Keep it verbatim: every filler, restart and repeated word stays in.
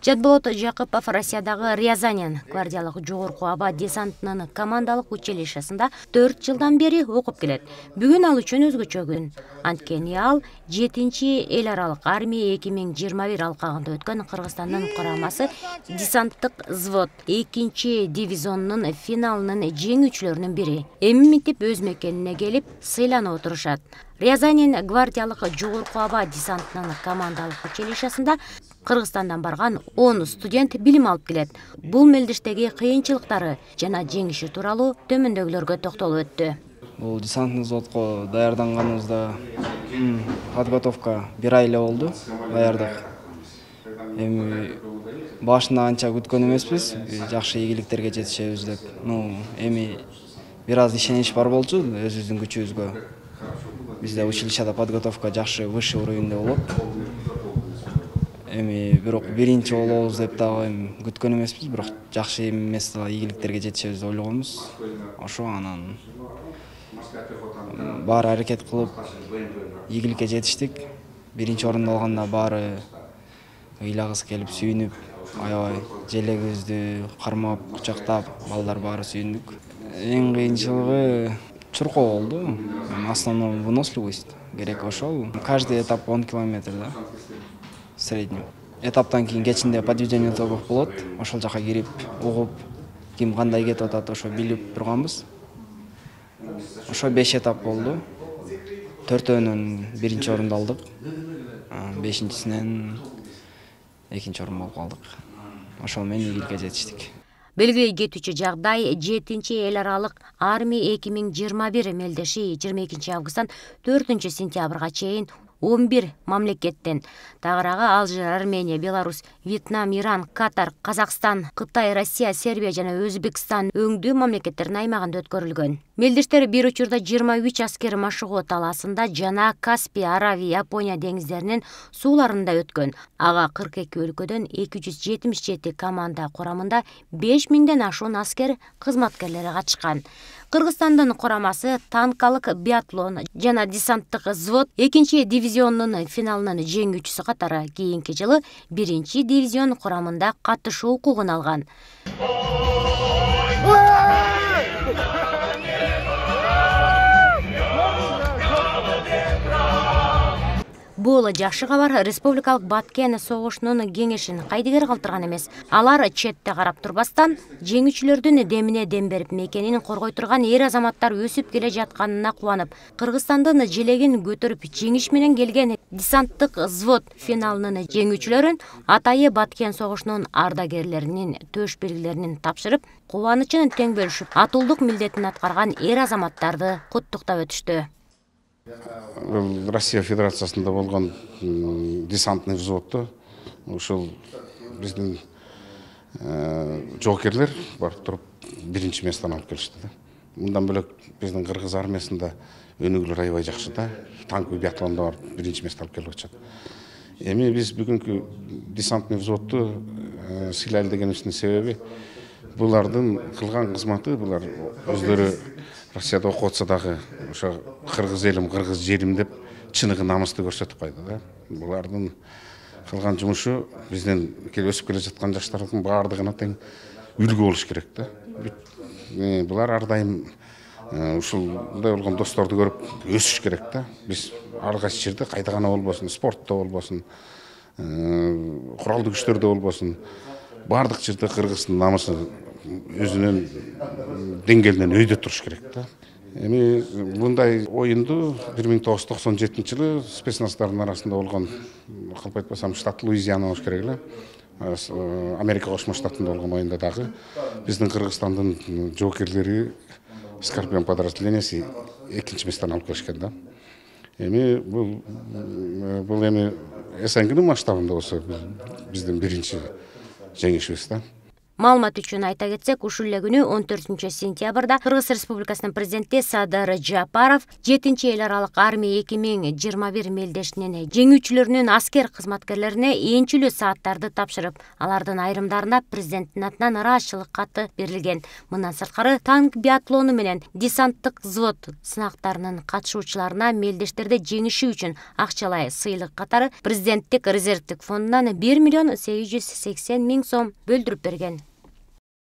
Жадболот Жакыпов Россиядагы Рязанен гвардиялык жогорку аба десантынын командалык училищесинде төрт жылдан бери окуп келет. Бүгүн ал үчүн өзгөчө күн. Анткени ал жетинчи эл аралык армия эки миң жыйырма бир алкагында өткөн Кыргызстандын курамасы десанттык взвод экинчи дивизионунун финалынын жеңүүчүлөрүнүн бири. Эми минтип өз мекенине келип сыйланып отурушат. Рязанен гвардиялык жогорку аба десантынын командалык училищесинде Кыргызстандан барган он студент билим алып келет. Бул мелдештеги кыйынчылыктары жана жеңиши тууралуу төмөндөгүлөргө токтолуп өттү. Бул десантный взводко даярданганыбызда подготовка бир ай эле болду, даярдык. Эми башында анча күткөн эмеспиз, жакшы ийгиликтерге жетишебиз деп. Ну, эми бир аз ишенич бар болчу өзүбүздүн күчүбүзгө. Бизде училищеда подготовка жакшы, высший уровеньде болот. Эми бирок биринчи болобуз деп дагы күткөн эмеспиз, бирок жакшы эмес ийгиликтерге жетишебиз деп ойлогонбуз. Ошо анан баары аракет кылып ийгиликке жетиштик. Биринчи орунду алганда баары ыйлагысы келип сүйүнүп, аябай желегибизди кармап, кучактап, балдар баары сүйүндүк. Эң кыйынчылыгы чуркоо болду. Основной выносливость керек ошол. Каждый этап он километр, да. Средний. Этаптан кийин кечинде подведение итогов болот. Ошол жака кирип, угуп, ким кандай кетип атат, ошо билип турганбыз. Ошо беш этап болду. Төртөөнөн биринчи орунду алдык. Бешинчисинен экинчи орун болуп калдык. Ошол менен ийгиликке жетиштик. Белгилей кетүүчү жагдай жетинчи эл аралык армия эки миң жыйырма бир мелдеши жыйырма экинчи августтан төртүнчү сентябрга чейин он бир мамлекеттен, тагыраагы Алжир, Армения, Беларусь, Вьетнам, Иран, Катар, Казакстан, Кытай, Россия, Сербия жана Өзбекстан өңдүү мамлекеттердин аймагында өткөрүлгөн. Мелдештер бир учурда жыйырма үч аскер Машыгоо талаасында жана Каспий, Аравия, Япония деңиздеринин сууларында өткөн. Ага кырк эки өлкөдөн эки жүз жетимиш жети команда курамында беш миңден ашуун аскер кызматкерлери катышкан. Кыргызстандын курамасы танкалык биатлон жана десанттык взвод экинчи дивизионунун финалынын жеңүүчүсү катары кийинки жылы биринчи дивизион курамында катышуу укугун алган. Бул жакшы кабар республикалык Баткен согушунун кеңешин кайдыгер калтырган эмес. Алар четте карап турбастан жеңүүчүлөрдүн демине дем берип мекенин коргой турган эр азаматтар өсүп келе жатканына кубанып, Кыргызстандын желегин көтөрүп жеңиш менен келген десанттык взвод финалынын жеңүүчүлөрүн атайы Баткен согушунун ардагерлеринин төш белгилерин тапшырып, кубанычын тең бөлүшүп, атуулдук милдетин аткарган эр азаматтарды куттуктап өтүштү. Россия Федерациясында болгон десантный взводто ушул биздин жоокерлер барып туруп биринчи местени алып келишти да. Мындан бөлөк биздин кыргыз армиясында өнүгүүлөр аябай жакшы да. Танковый биатлондо барып биринчи место алып келип атышат. Эми биз бүгүнкү десантный взводду сыйлайлы дегенибиздин себеби булардын кылган кызматы, булар өздөрү Россияда окуп атса дагы ошо кыргыз элим, кыргыз жерим деп чыныгы намысты көрсөтүп кайды да. Булардын кылган жумушу биздин келип өсүп келе жаткан жаштардын баардыгына тең үлгү болуш керек да. Булар ар дайым ушулдай болгон досторду көрүп өсүш керек да. Биз ар кайсы жерде кайда гана болбосун, спортто болбосун, куралдуу күчтөрдө болбосун, баардык жерде кыргыздын намысы өзүнүн деңгээлинен өйдө туруш керек да. Эми мындай оюнду бир миң тогуз жүз токсон жетинчи жылы спецназдардын арасында болгон, калп айтпасам, штат Луизиана болуш керек эле. Америка Кошмо Штатында болгон оюнда дагы биздин Кыргызстандын жоокерлери Скорпион подразделенияси экинчи местени алып келишкен да. Эми бул бул эми СНГнын масштабында болсо биздин биринчи жеңишибиз да. Маалымат үчүн айта кетсек, ушул эле күнү он төртүнчү сентябрда Кыргыз Республикасынын президенти Садыр Жапаров жетинчи эл аралык армия эки миң жыйырма бир мелдешинин жеңүүчүлөрүнүн аскер кызматкерлерине энчүлүү сааттарды тапшырып, алардын айрымдарына президенттин атынан ыраазычылык каты берилген. Мындан сырткары танк биатлону менен десанттык взвод сынактарынын катышуучуларына мелдештерде жеңиши үчүн акчалай сыйлык катары президенттик резервдик фондунан бир миллион сегиз жүз сексен миң сом бөлдүрүп берген.